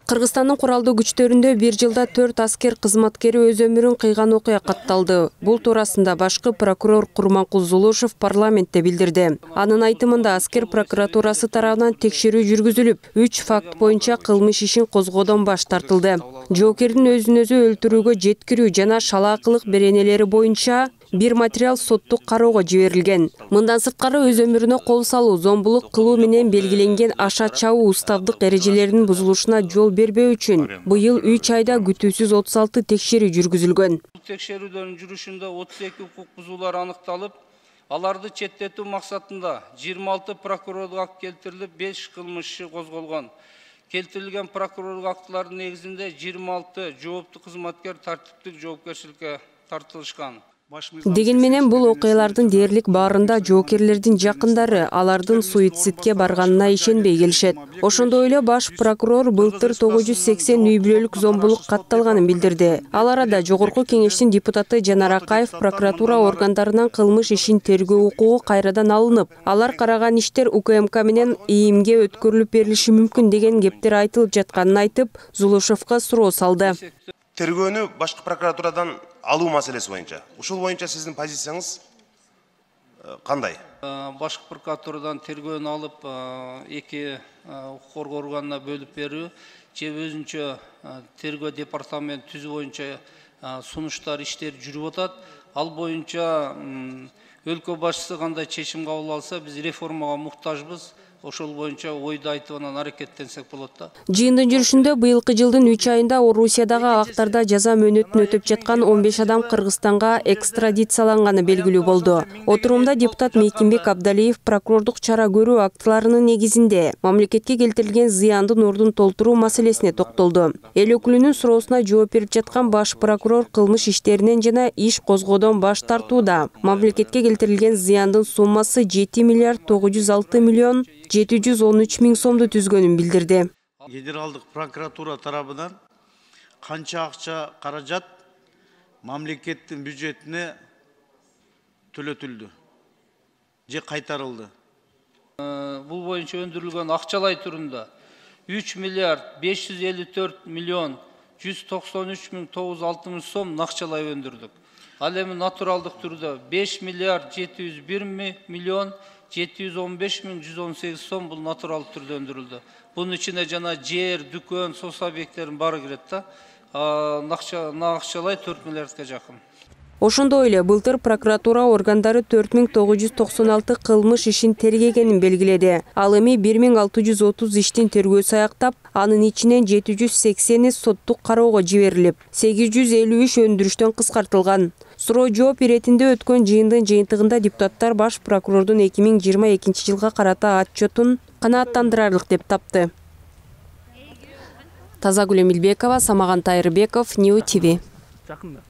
Кыргызстандын куралдуу күчтөрүндө бир жылда 4 аскер кызматкери өз өмүрүн кыйган окуя катталды. Бул туурасында башкы прокурор Курманкул Зулушев парламентте билдирди. Анын айтымында аскер прокуратурасы тарабынан текшерүү жүргүзүлүп, 3 факт боюнча кылмыш ишин козгоодон баш тартылды. Жоокердин өзүн өзү өлтүрүүгө жеткирүү жана шалаакылык беренелери боюнча бир материал соттук кароого жиберилген. Мындан сырткары өз өмүрүнө кол салуу, зомбулук кылуу менен белгиленген аша чабуу уставдык эрежелеринин бузулушуна жол бербөө үчүн быйыл 3 айда күтүүсүз 36 текшерүү жүргүзүлгөн. Текшерүүдөрдүн жүрүшүндө 32 укук бузуулар аныкталып, аларды четтетүү максатында 26 прокурорлук акт келтирилип, 5 кылмыш иши козголгон. Келтирилген прокурорлук акттардын негизинде 26 жооптуу кызматкер тартиптик жоопкерчиликке тартылышкан. Деген менен бул окуялардын дээрлик баарында жоокерлердин жакындары алардын суицидке барганына ишенбей келишет. Ошондой эле баш прокурор былтыр 980 үй бүлөлүк зомбулук катталганын билдирди. Ал арада Жогорку Кеңештин депутаты Жанар Акаев прокуратура органдарынан кылмыш ишин тергөө укугу кайрадан алынып, алар караган иштер УКМК менен ИИМге өткөрүлүп берилиши мүмкүн деген кептер айтылып жатканын айтып, Зулушевго суроо салды. Тергөөнү башкы прокуратурадан алуу маселеси боюнча. Ушул боюнча сиздин позицияңыз кандай? Башкы прокуратурадан тергөөнү алып, эки укук коргоо органына бөлүп берүү, же өзүнчө тергөө департамент түзүү боюнча сунуштар, иштер жүрүп атат. Ал боюнча өлкө башчысы кандай чечим кабыл алса, биз реформага муктажбыз. Ошол боюнча ойду айтып анан аракеттенсек болот да. Жыйындын жүрүшүндө быйылкы жылдын 3 айында Орусиядагы абактарда жаза мөөнөтүн өтөп жаткан 15 адам Кыргызстанга экстрадицияланганы белгилүү болду. Отурумда депутат Мейкимбек Абдалиев прокурордук чара көрүү актыларынын негизинде мамлекетке келтирилген зыяндын ордун толтуруу маселесине токтолду. Эл өкүлүнүн суроосуна жооп берип жаткан баш прокурор кылмыш иштеринен жана иш козгоодон баш тартууда. Мамлекетке келтирилген зыяндын суммасы 7 миллиард 906 миллион 713 миң сомду түзгөнүн билдирди. Федералдык прокуратура тарабынан канча акча каражат мамлекеттин бюджетине төлөтүлдү же кайтарылды? Бул боюнча өндүрүлгөн акчалай түрүндө 3 миллиард 554 миллион 193 миң 960 сом акчалай өндүрдүк. Ал эми натуралдык түрдө 5 миллиард 701 миллион 715 миң 118 сом бул натурал түрдө өндүрүлдү. Бунун ичине жана жер, дүкөн, сос объекттерин баары кирет да. Акчалай 4 миллиардка жакын. Ошондой эле былтыр прокуратура органдары 4996 кылмыш ишин тергегенин белгиледи. Ал эми 1630 иштин тергөөсү аяктап, анын ичинен 780 соттук кароого жиберилип, 853 өндүрүштөн кыскартылган. Суроо жооп иретинде өткөн жыйындын жыйынтыгында депутаттар баш прокурордун 2022 жылга карата отчетун канааттандырарлык деп тапты. Тазагүл Эмилбекова, Самаган Тайырбеков, Нью ТВ.